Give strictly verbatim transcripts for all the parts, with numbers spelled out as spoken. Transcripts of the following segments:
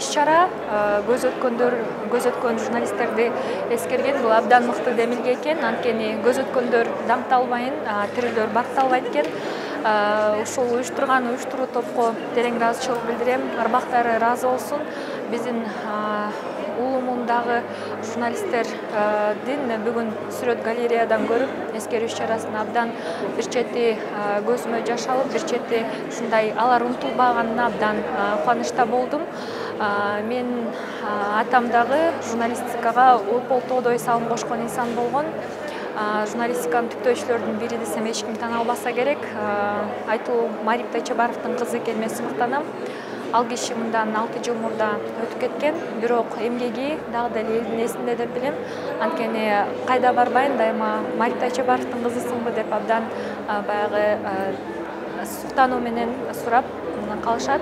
иш-чара көз өткөндөр көз өткөн журналисттерди эскерген бул абдан мыкты демилге экен. Анткени көз өткөндөр даңкталбайын, тирилөр бакталбайт экен. Ушул уюштурган уюштуруу топко терең ыраазычылык билдирем. Арбактары ыраазы болсун. Биздин улумундагы журналисттердин бүгүн сүрөт галереядан көрүп, эскерүү иш-чарасын абдан бир чети көзүмө жаш алып, бир чети ушундай алар унутулбаганына абдан кубанычта болдум. Мен атам дагы журналистикага опол тоодой салым кошкон инсан болгон. Журналистиканын түптөөчүлөрдүн бири десем эч ким тана албаса керек. Айтуу Марик Тайчабаровдун кызы экениме сыймыктанам. Ал киши мындан алты жыл мурда өтүп кеткен, бирок эмгеги дагы деле элдин эсинде деп билем. Анткени кайда барбайын, дайыма Марик Тайчабаровдун кызысыңбы деп абдан баягы суктануу менен сурап калышат.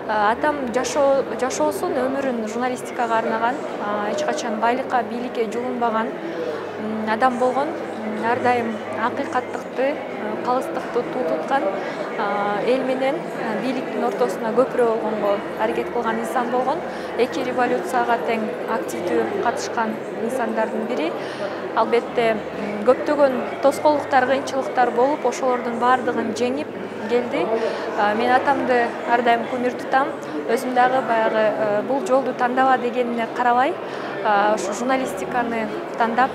Атам жашоосун, өмүрүн журналистикага арнаган, эч качан байлыкка, бийликке жулунбаган адам болгон. Ар дайым акыйкаттыкты, калыстыкты туу туткан, эл менен бийликтин ортосуна көпүрө болгонго аракет кылган инсан болгон. Эки революцияга тең активдүү катышкан инсандардын бири. Албетте көптөгөн тоскоолдуктар, кыйынчылыктар болуп, ошолордун баардыгын жеңип келди. Мен атамды ар дайым кумир тутам. Өзүм дагы баягы бул жолду тандаба дегенине карабай, ушу журналистиканы тандап,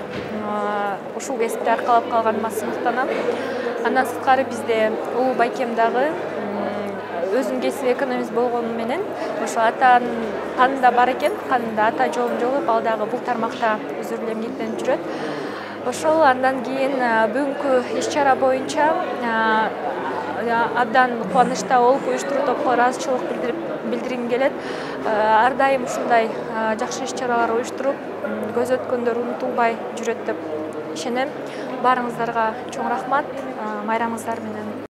ушул кесипти аркалап калганыма сыймыктанам. Андан сырткары бизде улуу байкем дагы өзүнүн кесиби экономист болгону менен ошо атанын канында бар экен, канында ата жолун жолуп, ал дагы бул тармакта өзү эле эмгектенип жүрөт. Ошол андан кийин бүгүнкү иш-чара боюнча абдан кубанычта болуп, уюштуруу топко ыраазычылык билдиргим келет. Ар дайым ушундай жакшы иш-чаралар уюштуруп, көз өткөндөр унутулбай жүрөт деп ишенем. Баарыңыздарга чоң рахмат. Майрамыңыздар менен.